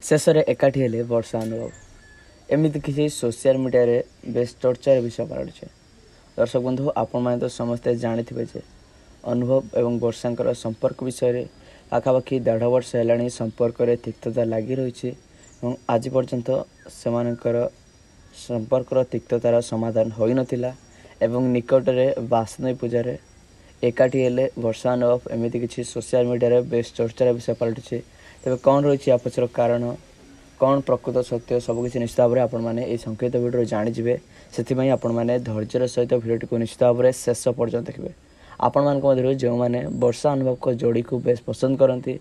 ଶେଷରେ ଏକାଠି ହେଲେ ବର୍ଷା ଅନୁଭବ। ଏମିତି କିଛି ସୋସିଆଲ ମିଡ଼ିଆରେ ବେଶ ଚର୍ଚ୍ଚାର ବିଷୟ ପାଲଟିଛି। ଦର୍ଶକ ବନ୍ଧୁ, ଆପଣମାନେ ତ ସମସ୍ତେ ଜାଣିଥିବେ ଯେ ଅନୁଭବ ଏବଂ ବର୍ଷାଙ୍କର ସମ୍ପର୍କ ବିଷୟରେ ପାଖାପାଖି 1.5 ବର୍ଷ ହେଲାଣି ସମ୍ପର୍କରେ ତିକ୍ତତା ଲାଗି ରହିଛି ଏବଂ ଆଜି ପର୍ଯ୍ୟନ୍ତ ସେମାନଙ୍କର ସମ୍ପର୍କର ତିକ୍ତତାର ସମାଧାନ ହୋଇନଥିଲା ଏବଂ ନିକଟରେ ବାସନ୍ତୀ ପୂଜାରେ ଏକାଠି ହେଲେ ବର୍ଷା ଅନୁଭବ। ଏମିତି କିଛି ସୋସିଆଲ ମିଡ଼ିଆରେ ବେଶ ଚର୍ଚ୍ଚାର ବିଷୟ ପାଲଟିଛି। ତେବେ କ'ଣ ରହିଛି ୟା ପଛର କାରଣ, କ'ଣ ପ୍ରକୃତ ସତ୍ୟ, ସବୁକିଛି ନିଶ୍ଚିତ ଭାବରେ ଆପଣମାନେ ଏହି ସଂକ୍ଷିପ୍ତ ଭିଡ଼ିଓରୁ ଜାଣିଯିବେ। ସେଥିପାଇଁ ଆପଣମାନେ ଧୈର୍ଯ୍ୟର ସହିତ ଭିଡ଼ିଓଟିକୁ ନିଶ୍ଚିତ ଭାବରେ ଶେଷ ପର୍ଯ୍ୟନ୍ତ ଦେଖିବେ। ଆପଣମାନଙ୍କ ମଧ୍ୟରୁ ଯେଉଁମାନେ ବର୍ଷା ଅନୁଭବଙ୍କ ଯୋଡ଼ିକୁ ବେଶ ପସନ୍ଦ କରନ୍ତି,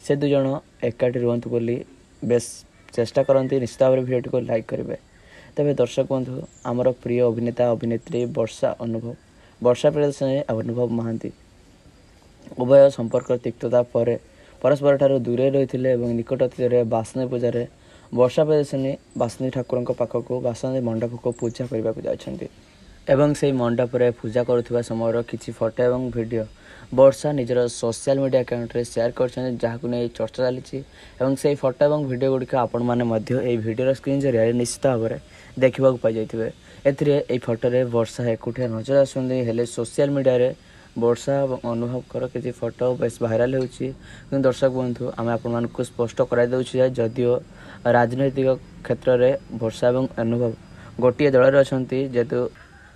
ସେ ଦୁଇଜଣ ଏକାଠି ରୁହନ୍ତୁ ବୋଲି ବେଶ ଚେଷ୍ଟା କରନ୍ତି, ନିଶ୍ଚିତ ଭାବରେ ଭିଡ଼ିଓଟିକୁ ଲାଇକ୍ କରିବେ। ତେବେ ଦର୍ଶକ ବନ୍ଧୁ, ଆମର ପ୍ରିୟ ଅଭିନେତା ଅଭିନେତ୍ରୀ ବର୍ଷା ଅନୁଭବ, ବର୍ଷା ପ୍ରିୟଦର୍ଶିନୀ, ଅନୁଭବ ମହାନ୍ତି ଉଭୟ ସମ୍ପର୍କ ତିକ୍ତତା ପରେ ପରସ୍ପର ଠାରୁ ଦୂରେଇ ରହିଥିଲେ ଏବଂ ନିକଟ ଅତୀତରେ ବାସନ୍ତୀ ପୂଜାରେ ବର୍ଷା ପ୍ରିୟଦର୍ଶିନୀ ବାସନ୍ତୀ ଠାକୁରଙ୍କ ପାଖକୁ, ବାସନ୍ତୀ ମଣ୍ଡପକୁ ପୂଜା କରିବାକୁ ଯାଇଛନ୍ତି ଏବଂ ସେହି ମଣ୍ଡପରେ ପୂଜା କରୁଥିବା ସମୟର କିଛି ଫଟୋ ଏବଂ ଭିଡ଼ିଓ ବର୍ଷା ନିଜର ସୋସିଆଲ ମିଡ଼ିଆ ଆକାଉଣ୍ଟରେ ସେୟାର କରିଛନ୍ତି, ଯାହାକୁ ନେଇ ଚର୍ଚ୍ଚା ଚାଲିଛି। ଏବଂ ସେହି ଫଟୋ ଏବଂ ଭିଡ଼ିଓ ଗୁଡ଼ିକ ଆପଣମାନେ ମଧ୍ୟ ଏହି ଭିଡ଼ିଓର ସ୍କ୍ରିନ୍ ଜରିଆରେ ନିଶ୍ଚିତ ଭାବରେ ଦେଖିବାକୁ ପାଇଯାଇଥିବେ। ଏଥିରେ ଏହି ଫଟୋରେ ବର୍ଷା ଏକୁଟିଆ ନଜର ଆସୁଛନ୍ତି, ହେଲେ ସୋସିଆଲ ମିଡ଼ିଆରେ ବର୍ଷା ଏବଂ ଅନୁଭବଙ୍କର କିଛି ଫଟୋ ବେଶ ଭାଇରାଲ ହେଉଛି। କିନ୍ତୁ ଦର୍ଶକ ବନ୍ଧୁ, ଆମେ ଆପଣମାନଙ୍କୁ ସ୍ପଷ୍ଟ କରାଇ ଦେଉଛୁ ଯେ ଯଦିଓ ରାଜନୈତିକ କ୍ଷେତ୍ରରେ ବର୍ଷା ଏବଂ ଅନୁଭବ ଗୋଟିଏ ଦଳରେ ଅଛନ୍ତି, ଯେହେତୁ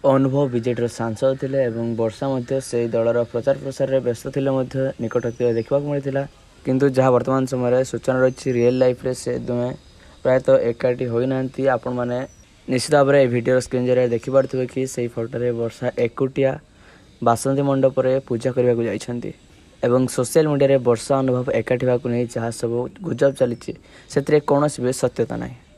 ଅନୁଭବ ବିଜେଡ଼ିର ସାଂସଦ ଥିଲେ ଏବଂ ବର୍ଷା ମଧ୍ୟ ସେହି ଦଳର ପ୍ରଚାର ପ୍ରସାରରେ ବ୍ୟସ୍ତ ଥିଲେ ମଧ୍ୟ ନିକଟ ଅତୀତରେ ଦେଖିବାକୁ ମିଳିଥିଲା। କିନ୍ତୁ ଯାହା ବର୍ତ୍ତମାନ ସମୟରେ ସୂଚନା ରହିଛି, ରିଏଲ୍ ଲାଇଫ୍ରେ ସେ ଦୁହେଁ ପ୍ରାୟତଃ ଏକାଠି ହୋଇନାହାନ୍ତି। ଆପଣମାନେ ନିଶ୍ଚିତ ଭାବରେ ଏହି ଭିଡ଼ିଓର ସ୍କ୍ରିନ୍ ଜରିଆରେ ଦେଖିପାରୁଥିବେ କି ସେହି ଫଟୋରେ ବର୍ଷା ଏକୁଟିଆ ବାସନ୍ତୀ ମଣ୍ଡପରେ ପୂଜା କରିବାକୁ ଯାଇଛନ୍ତି ଏବଂ ସୋସିଆଲ ମିଡ଼ିଆରେ ବର୍ଷା ଅନୁଭବ ଏକାଠି ହେବାକୁ ନେଇ ଯାହା ସବୁ ଗୁଜବ ଚାଲିଛି, ସେଥିରେ କୌଣସି ବି ସତ୍ୟତା ନାହିଁ।